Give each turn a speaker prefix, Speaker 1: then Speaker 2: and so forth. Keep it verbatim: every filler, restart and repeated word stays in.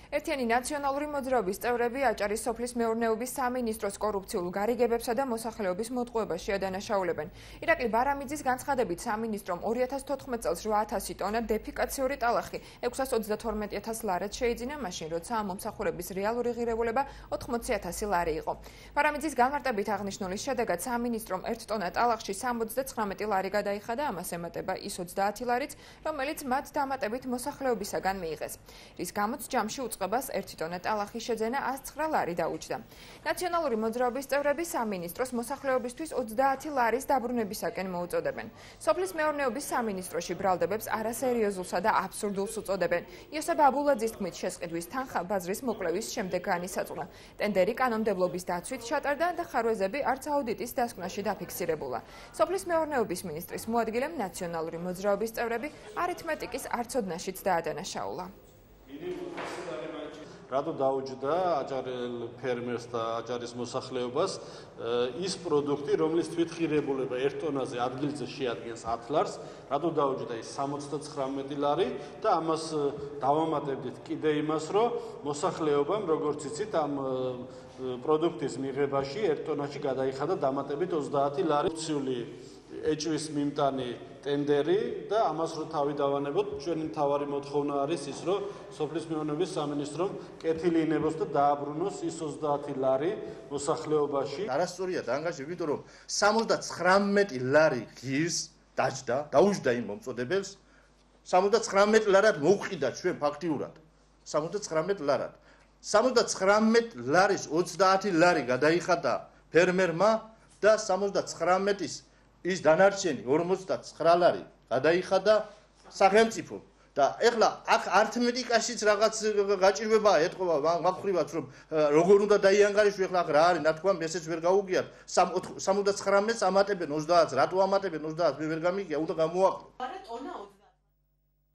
Speaker 1: ერთიანი ნაციონალური მოძრაობის წევრები აჭარის სოფლის მეურნეობის სამინისტროს კორუფციულ გარიგებებსა და მოსახლეობის მოტყუებაში ადანაშაულებენ. ირაკლი ბარამიძის განცხადებით სამინისტრომ ორი ათას თოთხმეტ წელს რვა ათასი ტონა დეფიკაციური ტალახი ექვსას ოცდათორმეტი ათას ლარად შეიძინა, მაშინ როცა ამ მომსახურების რეალური ღირებულება ოთხმოცი ათასი ლარი იყო. ბარამიძის განმარტებით აღნიშნულის შედეგად სამინისტრომ ერთ ტონა ტალახში სამოცდაცხრამეტი ლარი გადაიხადა, ამას ემატება ის ოცდაათი ლარიც, რომელიც მათ დამატებით მოსახლეობისაგან მიიღეს. რის გამოც ჯამში უწყებას ერთი ტონა ტალახის შეძენა ას ცხრა ლარი დაუჯდა. ნაციონალური მოძრაობის წევრები სამინისტროს მოსახლეობისთვის ოცდაათი ლარის დაბრუნებისაკენ მოუწოდებენ. სოფლის მეურნეობის სამინისტროში ბრალდებებს არასერიოზულსა და აბსურდულს უწოდებენ. იოსებ აბულაძის თქმით, შესყიდვის თანხა ბაზრის მოკვლევის შემდეგ განისაზღვრა. ტენდერი კანონმდებლობის დაცვით ჩატარდა და ხარვეზები არც აუდიტის დასკვნაში დაფიქსირებულა. სოფლის მეურნეობის მინისტრის მოადგილემ ნაციონალური მოძრაობის წევრები არითმეტიკის არცოდნაშიც დაადანაშაულა.
Speaker 2: რატო დაუჯდა აჭარელ ფერმერს და აჭარის მოსახლეობას ის პროდუქტი, რომლის თვითღირებულება ერთ ტონაზე ადგილზე შეადგენს ათ ლარს, რატო დაუჯდა ის სამოცდაცხრამეტი ლარი და ამას დავამატებდით კიდე იმას, რომ მოსახლეობამ, როგორც იცით, ამ პროდუქტის მიღებაში ერთ ტონაში გადაიხადა დამატებით ოცდაათი ლარი. ეჭვის მიმტანი ტენდერი და ამას რო თავი დავანებოთ, ჩვენი მთავარი მოთხოვნა არის ის, რომ სოფლის მეურნეობის სამინისტრომ კეთილი ინებოს და დააბრუნოს ის ოცდაათი ლარი მოსახლეობაში.
Speaker 3: არასწორია დანგაში, იმიტომ რომ სამოცდაცხრამეტი ლარი ღირს დაჯდა, დაუჯდა იმ მომწოდებელს, სამოცდაცხრამეტი ლარად მოვყიდა ჩვენ ფაქტიურად. სამოცდაცხრამეტი ლარად. სამოცდაცხრამეტი ლარის ოცდაათი ლარი გადაიხადა ფერმერმა და სამოცდაცხრამეტის ის დანარჩენი ორმოცდაცხრა ლარი გადაიხადა სახელმწიფომ და ეხლა აქ ართმეტიკაშიც რაღაც გაჭირვებაა ეთყობა მაგხრივაც რომ როგორ უნდა დაიანგარიშო ეხლა აქ რა არის ნათქვამი ესეც ვერ გაუგიათ სამოცდაცხრამეტს ამატებენ ოცდაათს რატო ამატებენ ოცდაათს მე ვერ გამიგია უნდა გამოაყო.